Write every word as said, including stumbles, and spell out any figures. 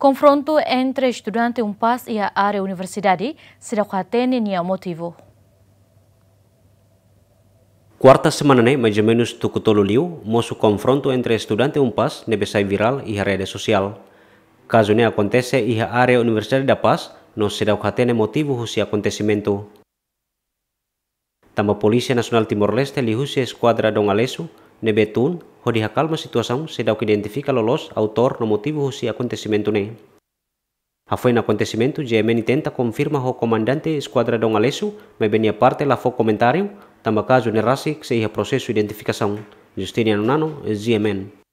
Konfrontu entre estudante UNPAZ iha área universidade, seidauk hatene nia motivu. Kuarta semana ne'e, mais ou menus tuku tolu liu, mosu konfrontu entre estudante UNPAZ ne'ebé sai virál iha rede sosiál. Kazu ne'e akontese iha área Universidade da Paz, no seidauk hatene motivu husi akontesimentu. Tanba Polísia Nasionál Timor-Leste liuhusi Eskuadra Dom Aleixo ne'ebé tun hodi hakalma situasaun, seidauk identifika loloos autór no motivu husi akontesimentu ne'e. Hafoin akontesimentu, GMN tenta konfirma ho komandante Eskuadra Dom Aleixo, maibé nia parte la fó komentáriu, tanba kazu ne'e rasik sei iha prosesu identifikasaun. Justiniano Nano, GMN.